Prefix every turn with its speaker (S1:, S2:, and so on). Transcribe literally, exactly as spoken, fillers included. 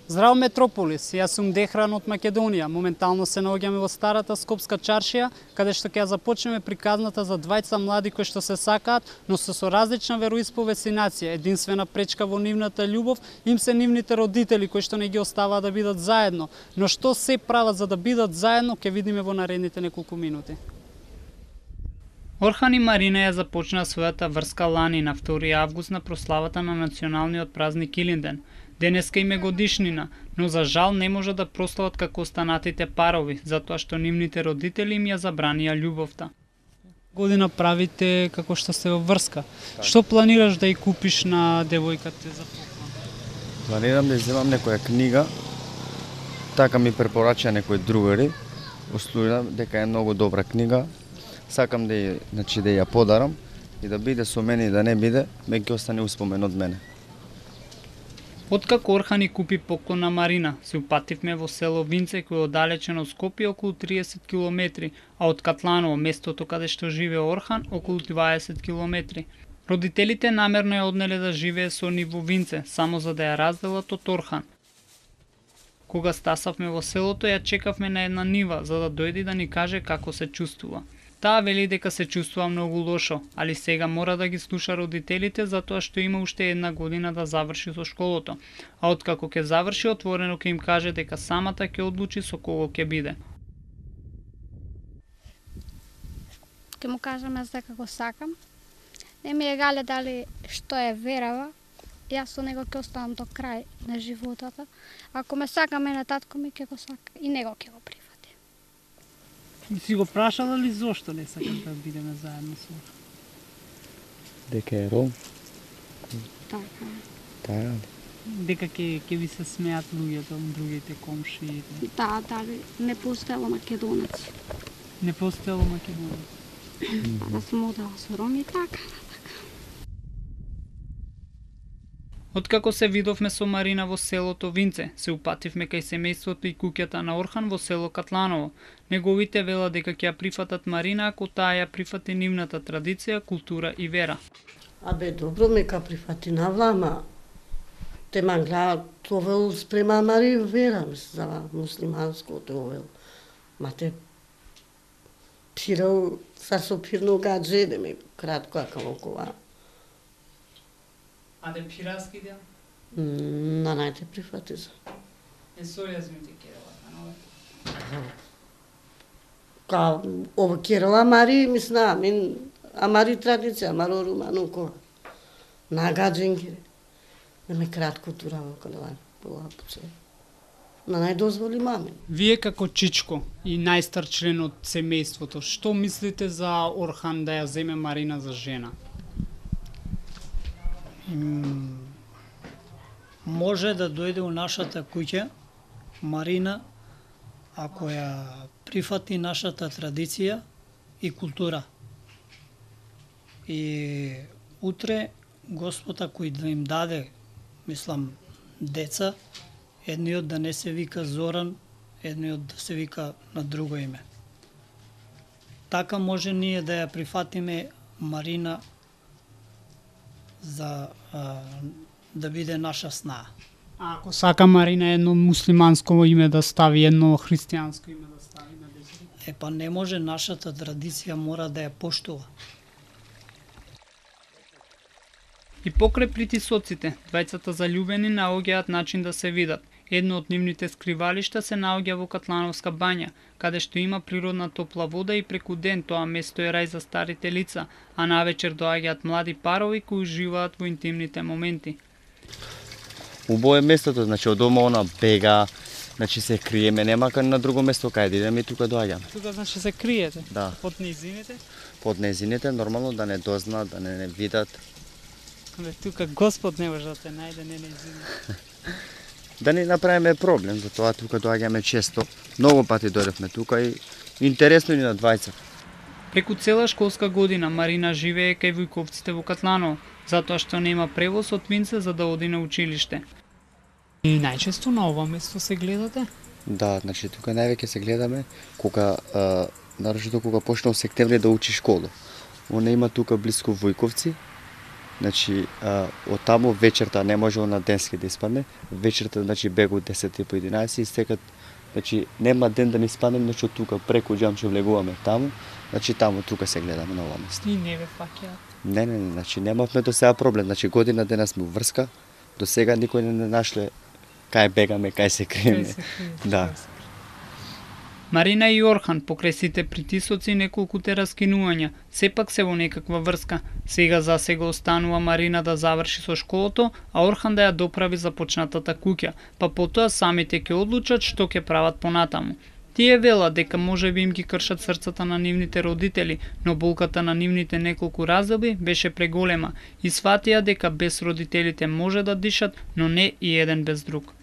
S1: Здраво Метрополис, јас сум Дехран од Македонија. Моментално се наоѓаме во старата Скопска чаршија, каде што ќе ја започнеме приказната за двајца млади кои што се сакаат, но се со различна вероисповест и нација. Единствена пречка во нивната љубов им се нивните родители кои што не ги оставаат да бидат заедно. Но што се прават за да бидат заедно, ќе видиме во наредните неколку минути. Орхан и Марина ја започнаа својата врска лани на втори август на прославата на националниот празник Илинден. Денеска им е годишнина, но за жал не може да прослават како останатите парови, затоа што нивните родители им ја забранија љубовта. Година правите како што сте во врска. Так. Што планираш да ја купиш на девојката за поклон?
S2: Планирам да земам некоја книга, така ми препорача некои другари, услужам дека е многу добра книга. Сакам да ја, значи, да ја подарам и да биде со мене и да не биде, ме ќе остане успомен од мене.
S1: Откако Орхан и купи поклон на Марина, се упативме во село Винце, кој е оддалечено од Скопје околу триесет километри, а од Катланово, местото каде што живее Орхан, околу дваесет километри. Родителите намерно ја однеле да живее со нив во Винце, само за да ја разделат од Орхан. Кога стасавме во селото, ја чекавме на една нива, за да дојде да ни каже како се чувствува. Таа вели дека се чувствува многу лошо, али сега мора да ги слуша родителите затоа што има уште една година да заврши со школото, а откако ќе заврши отворено ќе им каже дека самата ќе одлучи со кого ќе биде.
S3: Ќе му кажам јас дека го сакам. Не ми е гале дали што е верава, јас со него ќе останам до крај на животата. Ако ме сака мене татко ми ќе го сака и него ќе го прифати.
S1: И си го прашала ли зошто не сакаш да бидеме заедно со Орхан?
S2: Дека е ром?
S3: Така.
S2: Така.
S1: Дека ќе ќе ви се смеат луѓето, другите комши.
S3: Да, дали не постоело македонец.
S1: Не постоело македонец.
S3: Да сум одела со роми, така.
S1: Откако се видовме со Марина во селото Винце, се упативме кај семејството и куќата на Орхан во село Катланово. Неговите велат дека ќе ја прифатат Марина ако таа ја прифати нивната традиција, култура и вера.
S4: Абе, добро ме ка прифати на влама. Те ма гледат овел спрема Мари вера, за муслиманското овел. Ма те пирал, са со пирно гадже, да ме кратко ака окова.
S1: А де пираски дел?
S4: На најте прифати за.
S1: Е со јазмите керела, канове?
S4: Ка ова керела Мари, мисна, мин, а Мари традиција, маро руману кога. На гадженки. Не ме кратко турава кога была пуце. На најдозволи маме.
S1: Вие како чичко и најстар член од семејството, што мислите за Орхан да ја земе Марина за жена?
S5: Може да дојде у нашата куќа Марина ако ја прифати нашата традиција и култура. И утре Господ кој да им даде, мислам, деца, едниот да не се вика Зоран, едниот да се вика на друго име. Така може ние да ја прифатиме Марина за а, да биде наша снаа.
S1: А ако сака Марина едно муслиманско име да стави, едно христијанско име да стави на децата?
S5: Е па не може, нашата традиција мора да ја поштува.
S1: И покрај притисоците, двајцата заљубени наоѓаат начин да се видат. Едно од нивните скривалишта се наоѓа во Катлановска бања, каде што има природна топла вода и преку ден тоа место е рај за старите лица, а навечер доаѓаат млади парови кои уживаат во интимните моменти.
S2: Убаво е местото, значи од дома она бега, значи се криеме, нема кај на друго место кај да идеме и тука доаѓаме.
S1: Тука значи се криете?
S2: Да.
S1: Под низините?
S2: Под низините, нормално да не дознаат, да не не видат.
S1: Бе, тука Господ не може да те најде, не низините.
S2: Да не направиме проблем, затоа тука доаѓаме често. Многу пати дојдевме тука и интересно ни на двајца.
S1: Преку цела школска година Марина живее кај Вујковците во Катланово, затоа што нема превоз од Винце за да оди на училиште. И најчесто на ова место се гледате?
S2: Да, значи тука највеќе се гледаме кога нарочито кога почнал септември да учи школа. Она има тука блиску Вујковци Значи, а, од таму вечерта не можело на денски да испадне. Вечерта, значи, бегу десет и по единаесет и секат, значи, нема ден да не испаднем, значи, од тука преку Џамче влегуваме таму, значи, таму тука се гледаме на ова место.
S1: И не ве фаќаат.
S2: Не, не, не, значи, немавме до сега проблем, значи, година дена сме врска, до сега никој не нашле кај бегаме, кај се криеме. Да.
S1: Марина и Орхан, покрај сите притисоци и неколкуте раскинувања, сепак се во некаква врска. Сега за сега останува Марина да заврши со школото, а Орхан да ја доправи започнатата куќа, па потоа самите ќе одлучат што ќе прават понатаму. Тие велат дека можеби им ги кршат срцата на нивните родители, но болката на нивните неколку разделби беше преголема и сватија дека без родителите може да дишат, но не и еден без друг.